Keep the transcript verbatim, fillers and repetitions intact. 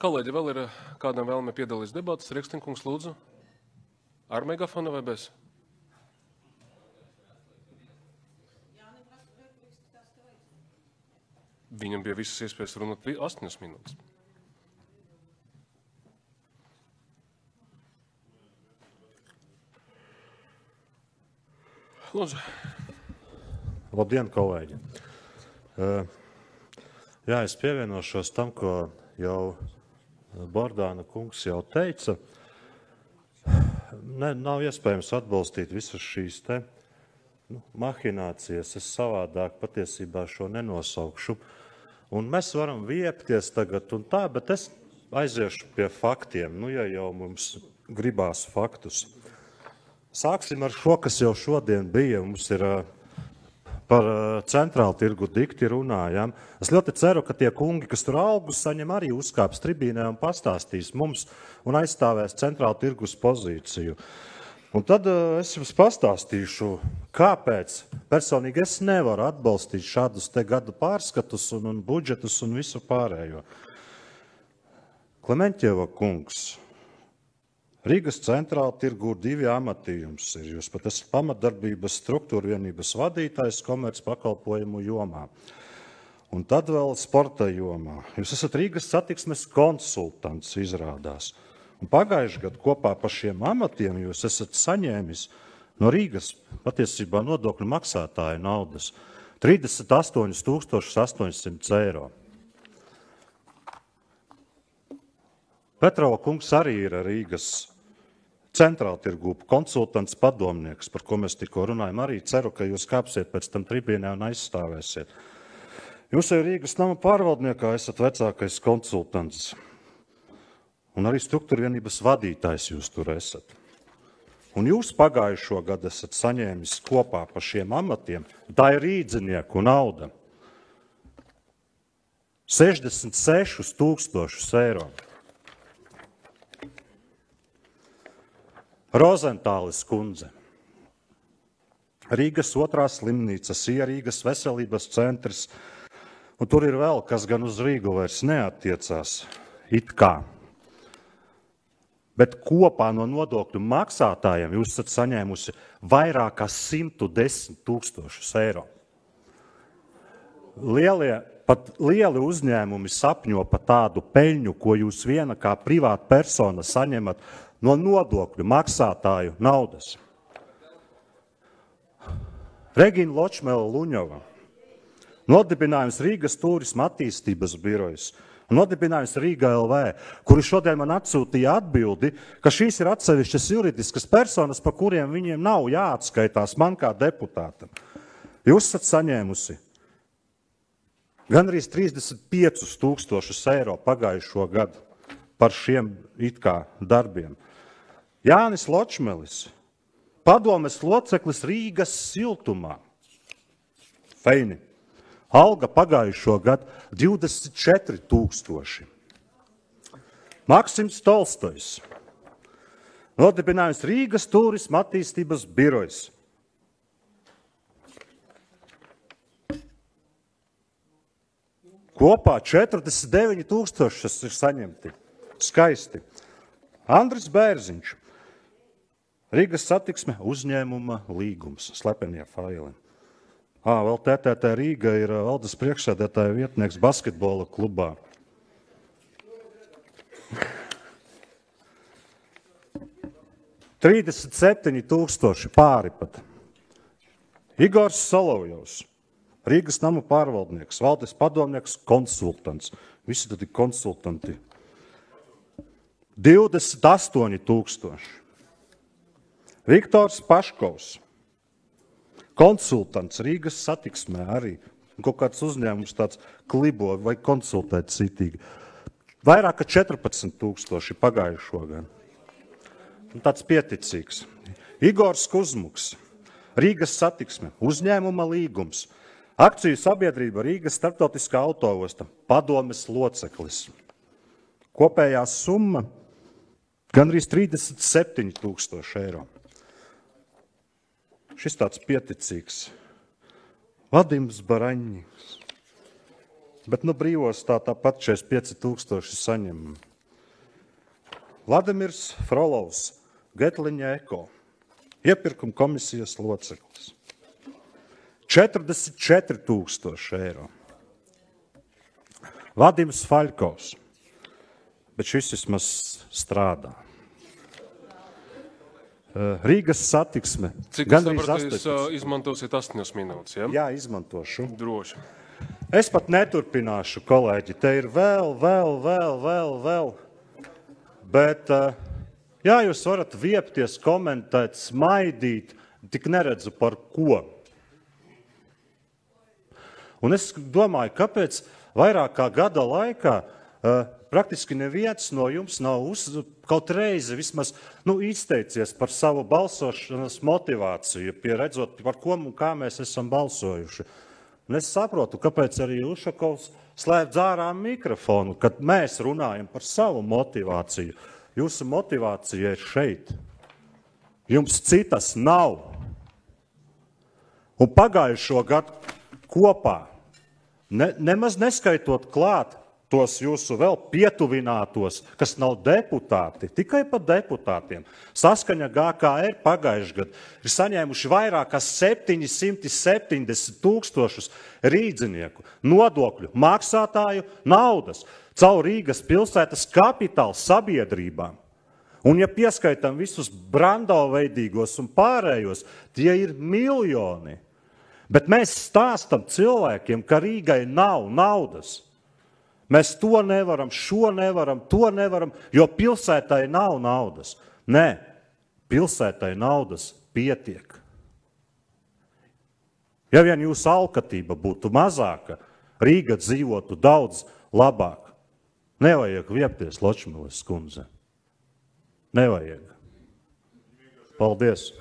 Kolēģi, vēl ir kādam vēlme piedalīties debatas? Riekstinkungs, lūdzu. Ar megafonu vai bez? Viņam bija visas iespējas runāt astoņas minūtes. Lūdzu. Labdien, kolēģi. Uh, jā, es pievienošos tam, ko jau Bordāna kungs jau teica. Ne, nav iespējams atbalstīt visas šīs te nu, mahinācijas. Es savādāk patiesībā šo nenosaukšu. Un mēs varam viepties tagad un tā, bet es aiziešu pie faktiem, nu, ja jau mums gribās faktus. Sāksim ar šo, kas jau šodien bija. Mums ir par centrālu tirgu dikti runājam. Es ļoti ceru, ka tie kungi, kas tur augus, saņem arī uzkāps tribīnē un pastāstīs mums un aizstāvēs centrālu tirgus pozīciju. Un tad es jums pastāstīšu, kāpēc personīgi es nevaru atbalstīt šādus te gadu pārskatus un, un budžetus un visu pārējo. Klementjeva kungs, Rīgas centrāla tirgu divi amati jums ir. Jūs pat esat pamatdarbības struktūra vienības vadītājs komerc pakalpojumu jomā. Un tad vēl sporta jomā. Jūs esat Rīgas satiksmes konsultants, izrādās. Un pagājuši gadu kopā par šiem amatiem jūs esat saņēmis no Rīgas patiesībā nodokļu maksātāju naudas trīsdesmit astoņus tūkstošus astoņsimt eiro. Petrova kungs arī ir Rīgas centrāla tirgu konsultants padomnieks, par ko mēs tikko runājam. Arī ceru, ka jūs kāpsiet pēc tam tribīnē un aizstāvēsiet. Jūs jau Rīgas nama pārvaldniekā esat vecākais konsultants. Un arī struktūra vienības vadītājs jūs tur esat. Un jūs pagājušo gadu esat saņēmis kopā par šiem amatiem, tā ir rīdzinieku nauda, sešdesmit sešus tūkstošus eiro. Rozentālis kundze, Rīgas otrā slimnīcas, Rīgas veselības centrs, un tur ir vēl, kas gan uz Rīgu vairs neattiecās, it kā. Bet kopā no nodokļu maksātājiem jūs esat saņēmusi vairāk kā simt desmit tūkstošus eiro. Lielie, pat lieli uzņēmumi sapņo par tādu peļņu, ko jūs viena kā privāta persona saņemat no nodokļu maksātāju naudas. Regina Ločmela Luņova, nodibinājums Rīgas turisma attīstības birojas, nodibinājums Rīga L V, kuri šodien man atsūtīja atbildi, ka šīs ir atsevišķas juridiskas personas, par kuriem viņiem nav jāatskaitās man kā deputātam. Jūs esat saņēmusi gandrīz trīsdesmit piecus tūkstošus eiro pagājušo gadu par šiem it kā darbiem. Jānis Ločmelis, padomes loceklis Rīgas siltumā. Feini. Alga pagājušo gadu divdesmit četri tūkstoši. Maksims Tolstojs. Nodibinājums Rīgas turisma attīstības birojas. Kopā četrdesmit deviņi tūkstoši ir saņemti. Skaisti. Andris Bērziņš. Rīgas satiksme uzņēmuma līgums. Slepenie faili. Ā, vēl T T T Rīga ir valdes priekšsēdētāja vietnieks basketbola klubā. trīsdesmit septiņi tūkstoši pāri pat. Igors Solovjovs, Rīgas nama pārvaldnieks, valdes padomnieks, konsultants. Visi tad ir konsultanti. divdesmit astoņi tūkstoši. Viktors Paškovs. Konsultants Rīgas satiksmē arī. Kaut kāds uzņēmums tāds klibo vai konsultēt citīgi. Vairāk kā četrpadsmit tūkstoši pagājušo gadu. Tāds pieticīgs. Igors Kuzmuks. Rīgas satiksme. Uzņēmuma līgums. Akciju sabiedrība Rīgas starptautiskā autoosta. Padomes loceklis. Kopējā summa gandrīz trīsdesmit septiņi tūkstoši eiro. Šis tāds pieticīgs. Vadims Baraņņiks. Bet nu brīvos tā tāpat četrdesmit pieci tūkstoši saņem. Vladimirs Frolovs, Getliņa Eko, iepirkuma komisijas loceklis. četrdesmit četri tūkstoši eiro. Vadims Faļkovs, bet šis vismaz strādā. Rīgas satiksme. Cik es sapratu, jūs uh, izmantosiet astoņas minūtes, ja? Jā, izmantošu. Droši. Es pat neturpināšu, kolēģi. Te ir vēl, vēl, vēl, vēl, vēl. Bet, jā, jūs varat viepties, komentēt, smaidīt, tik neredzu par ko. Un es domāju, kāpēc vairāk kā gada laikā praktiski neviens no jums nav uz, kaut reizi vismaz nu, izteicies par savu balsošanas motivāciju, pieredzot, par ko un kā mēs esam balsojuši. Un es saprotu, kāpēc arī Ušakovs slēdz ārā mikrofonu, kad mēs runājam par savu motivāciju. Jūsu motivācija ir šeit. Jums citas nav. Un pagājušo gadu kopā, ne, nemaz neskaitot klāt tos jūsu vēl pietuvinātos, kas nav deputāti, tikai par deputātiem. Saskaņa G K R pagājušajā gadā ir saņēmuši vairāk kā septiņsimt septiņdesmit tūkstošus rīdzinieku nodokļu maksātāju naudas caur Rīgas pilsētas kapitāla sabiedrībām. Un ja pieskaitam visus brandoveidīgos un pārējos, tie ir miljoni. Bet mēs stāstam cilvēkiem, ka Rīgai nav naudas. Mēs to nevaram, šo nevaram, to nevaram, jo pilsētai nav naudas. Nē, pilsētai naudas pietiek. Ja vien jūsu alkatība būtu mazāka, Rīga dzīvotu daudz labāk. Nevajag viepties, Ločmiles kundze. Nevajag. Paldies.